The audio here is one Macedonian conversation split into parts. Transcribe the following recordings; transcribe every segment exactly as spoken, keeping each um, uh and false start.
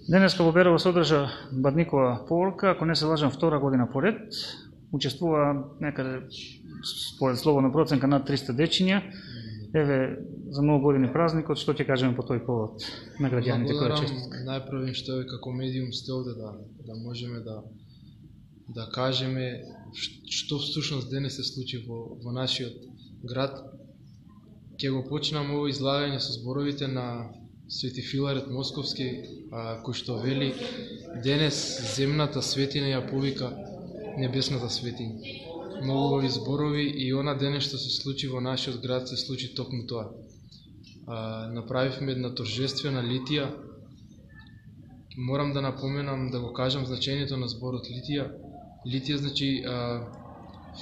Денеска во Берово се одржа Бадникова поворка, ако не се лажам, втора година поред. Учествува некаде, според слободна проценка, над триста дечиња. Еве, за многу години празникот, што ќе кажеме по тој повод на граѓаните кои честитка? Најправим што е како медиум сте овде да, да можеме да, да кажеме што всушност денес се случи во, во нашиот град. Ќе го почнам ово излагање со зборовите на Свети Филарет Московски, а, кој што вели: денес земната светиња ја повика небесната светиња. Многу зборови и она денес што се случи во нашиот град се случи токму тоа. А, направивме една торжествена литија. Морам да напоменам, да го кажам значењето на зборот литија. Литија значи а,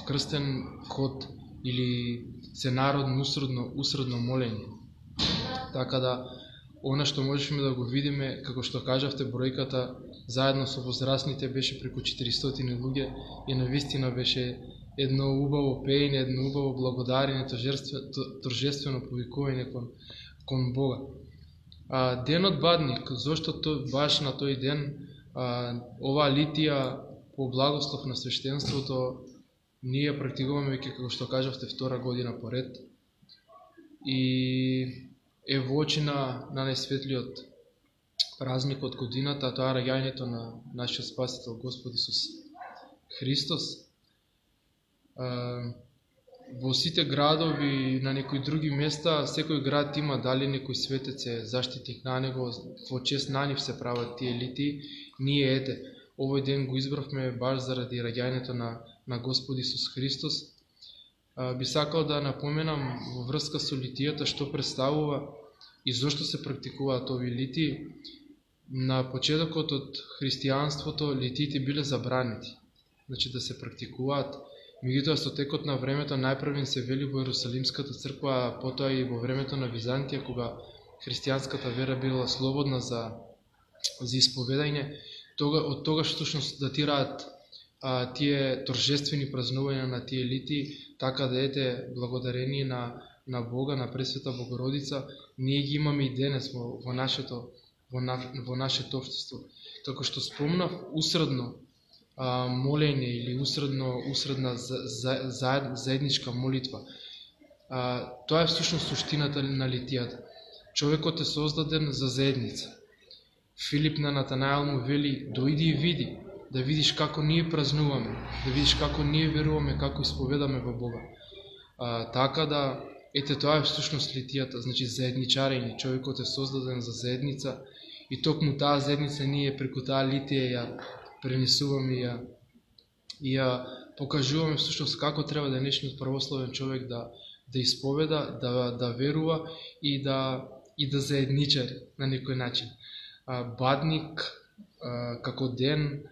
вкрстен ход или сенародно усредно, усредно молење. Така да, она што можешме да го видиме, како што кажавте, бројката заедно со возрастните беше преку четиристотини луѓе и навистина беше едно убаво пеење, едно убаво благодарење, торжествено повикување кон, кон Бога. А, денот Бадник, зошто тој, баш на тој ден, а, оваа литија по благослов на свештенството ние практикуваме веќе, како што кажавте, втора година поред. И е во очи на, на најсветлиот празник од годината, тоа раѓањето на нашиот Спасител Господ Исус Христос. А, во сите градови, на некои други места, секој град има дали некој светец е заштитник на него, во чест на нив се прават тие литии. Ние ете, овој ден го избравме баш заради раѓањето на, на Господ Исус Христос. А, би сакал да напоменам во врска со литијата што представува и зошто се практикуваат овие литии. На почетокот од христијанството литиите биле забранети, значи да се практикуваат. Меѓутоа со текот на времето најпрвен се вели во Ерусалимската црква, а потоа и во времето на Византија, кога христијанската вера била слободна за, за исповедање. Тога, од тогаш всушност датираат а, тие торжествени празнувања на тие литии, така да ете, благодарение на, на Бога, на Пресвета Богородица, ние ги имаме и денес во, во, нашето, во, на, во нашето општество. Како што спомнав, усредно а, молење или усредно, усредна за, за, за, заедничка молитва. А, тоа е всушност суштината на литијата. Човекот е создаден за заедница. Филип на Натанаел му вели: дојди и види, да видиш како ние празнуваме, да видиш како ние веруваме, како исповедаме во Бога. А, така да, ете, тоа е всушност литијата, значи заедничарење. Човекот е создаден за заедница и токму таа заедница ние преку таа литија ја пренесуваме и ја, и ја покажуваме всушност како треба денешниот православен човек да, да исповеда, да, да верува и да, и да заедничари на некој начин. А, Бадник а, како ден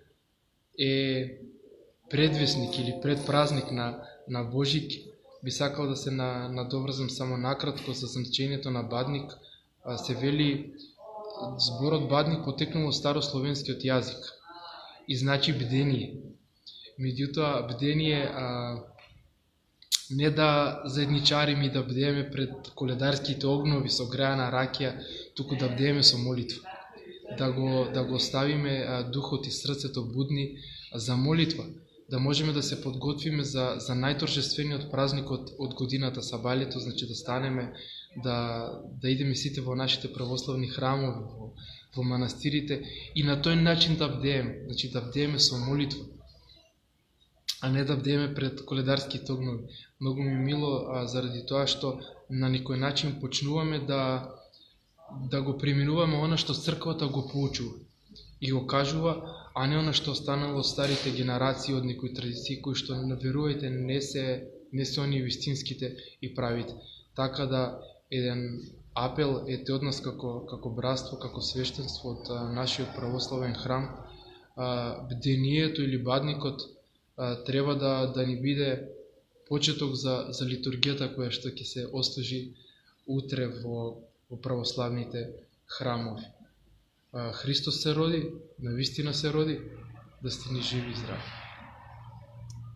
е предвесник или предпразник на, на Божик. Би сакал да се на, надоврзам само накратко со значењето на Бадник. А, се вели, зборот Бадник потекнал од старословенскиот јазик и значи бдение. Меѓутоа, бдение а, не да заедничариме и да бдееме пред коледарските огнови со грајана ракија, туку да бдееме со молитва. Да го, да го оставиме а, духот и срцето будни за молитва, да можеме да се подготвиме за, за најторжествениот празник од, од годината, Сабалето, значи да станеме, да, да идеме сите во нашите православни храмови, во, во манастирите и на тој начин да бдееме, значи да бдееме со молитва, а не да бдееме пред коледарските огнови. Многу ми мило а, заради тоа што на некој начин почнуваме да да го преминуваме она што црквата го поучува и го кажува, а не она што останало од старите генерации, од некои традиции кои што, верувајте, не се не се они вистинските и правите. Така да, еден апел ете од нас како како братство, како свештенство од а, нашиот православен храм, а, бдението или Бадникот а, треба да да ни биде почеток за за литургијата која што ќе се ослужи утре во во православните храмови. Христос се роди, навистина се роди, да сте ни живи и здрави.